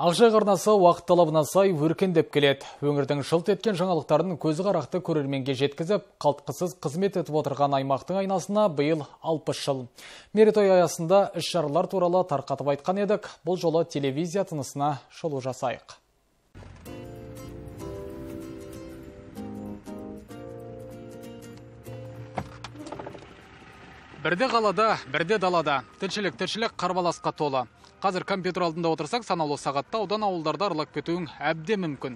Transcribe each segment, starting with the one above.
Ақжайық арнасы уақыт талабына сай өркендеп келеді. Өңірдің жылт еткен жаңалықтарын көзі қарақты көрерменге жеткізіп, қалтқысыз қызмет етіп отырған аймақтың айнасына биыл 60 жыл. Мерейтой аясында іс-шаралар туралы тарқатып айтқан едік. Бұл жолы телевизия тынысына шолу жасайық. Бірде қалада, бірде далада. Тіршілік қарбаласқа толы. Қазір компьютер алдында отырсақ, санаулы сағатта аудан ауылдарда аралап кетуің әбден мүмкін.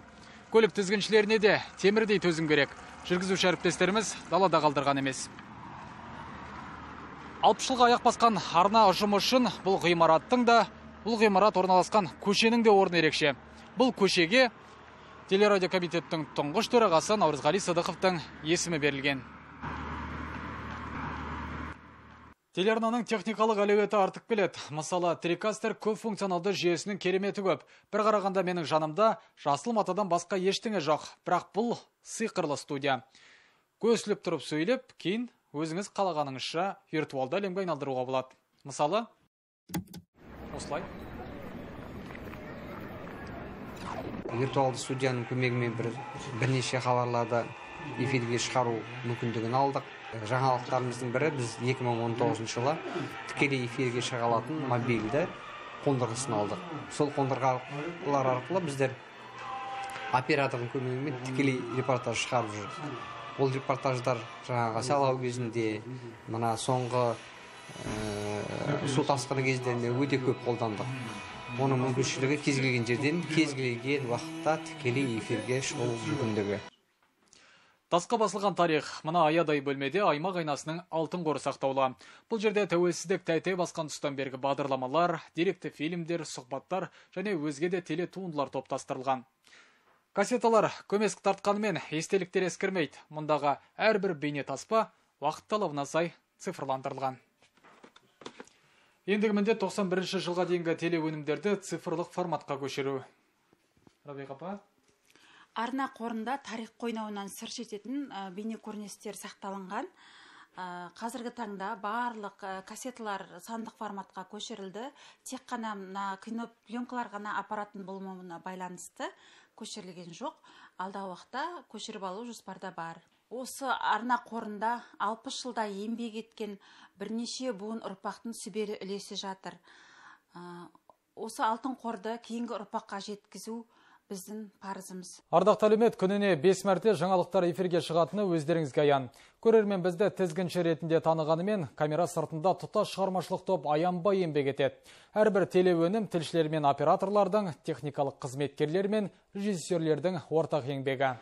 Көлік тізгіншілеріне де темірдей төзім керек. Жүргізуші әріптестеріміз далада қалдырған емес. 60 жылға аяқ басқан арна ұжымы үшін бұл ғимарат орналасқан көшенің де орны ерекше. Бұл көшеге телерадио комитеттің тұңғыш төрағасы Наурызғали Сыдықовтың есімі берілген. Телеарнаның техникалық әлеуеті артып келеді. Мысалы, трикастер көп функционалды жүйесінің кереметі көп. Бір қарағанда менің жанымда жасыл матадан басқа ештеңе жоқ. Бірақ бұл сиқырлы студия. Көсіліп тұрып сөйлеп, кейін өзіңіз қалағаныңызша виртуалды әлемге айналдыруға болады. Мысалы, осылай. Виртуалды студияның көмегімен бірнеше хабарларды эфирге шығару мүмкіндігін алдық. Жаңалықтарымыздың бірі біз 2019 жылы тікелей эфирге шыға алатын мобильді қондырғысын алдық. Сол қондырғылар арқылы біздер оператордың көмегімен тікелей репортаж шығарып жүрдік. Ол репортаждар жаңағы сайлау кезінде, мына соңғы су тасқыны кездерінде өте көп қолдандық. Оның мүмкіншілігі кез келген жерден, кез келген уақытта тікелей эфирге шығу мүмкіндігі. Тасқа басылған тарих. Мына аядай бөлмеде аймақ айнасының алтын қоры сақтаулы. Бұл жерде тәуелсіздік тәй-тәй басқан тұстан бергі бағдарламалар, деректі фильмдер, сұхбаттар және өзге де телетуындылар топтастырылған. Кассеталар көмескі тартқанымен естеліктер ескірмейді. Мұндағы әрбір бейне таспа уақыт талабына сай цифрландырылған. Ендігі міндет 91 жылға дейінгі телеөнімдерді цифрлық форматқа көшіру. Рабиға апа? Арна қорында тарих қойнауынан сыр шертетін бейне көріністер сақталынған. Қазіргі таңда барлық кассеталар сандық форматқа көшірілді. Тек қана кинопленкалар ғана аппараттың болмауына байланысты көшірілген жоқ. Алдағы уақытта көшіріп алу жоспарда бар. Осы арна қорында 60 жылда еңбек еткен бірнеше буын ұрпақтың сүбелі үлесі жатыр. Осы алтын қорды кейінгі ұрпаққа жеткізу біздің парызымыз. Ардақты әлеумет, күніне 5 мәрте жаңалықтар эфирге шығатыны өздеріңізге аян. Көрермен бізді тізгінші ретінде танығанымен, камера сыртында тұтас шығармашылық топ аянбай еңбек етеді. Әрбір телеөнім тілшілер мен операторлардың, техникалық қызметкерлер мен режиссерлердің ортақ еңбегі.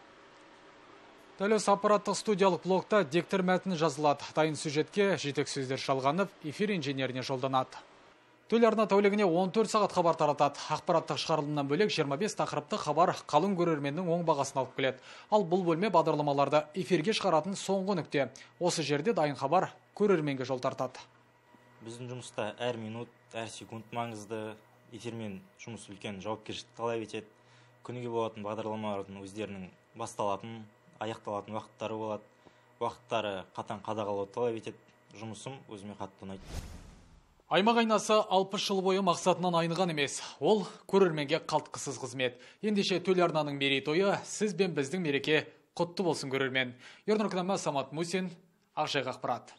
Дәл осы аппараттық студиялық блокта диктор мәтіні жазылады. Дайын сюжетке жетек сөздер шалғанып, эфир инженеріне жолданады. Телеарна тәулігіне 14 сағат хабар таратады. Ақпараттық шығарылымнан бөлек 25 тақырыпты хабар қалың көрерменнің оң бағасын алып келеді. Ал бұл бөлме бағдарламаларды эфирге шығаратын соңғы нүкте. Осы жерде дайын хабар көрерменге жол тартады. Біздің жұмыста әр минут, әр секунд маңызды. Эфирмен жұмыс үлкен жауапкершілікті талап етеді. Күніге болатын бағдарламалардың өздерінің басталатын, аяқталатын уақыттары болады. Уақыттары қатаң қадағалауды талап етеді. Жұмысым өзіме қатты ұнайды. Аймақ айнасы 60 жыл бойы мақсатынан айныған емес. Ол көрерменге қалтқысыз қызмет. Ендеше телеарнаның мерейтойы сіз бен біздің мереке құтты болсын көрермен. Ернұр Самат Мусин, Ақжайық ақпарат.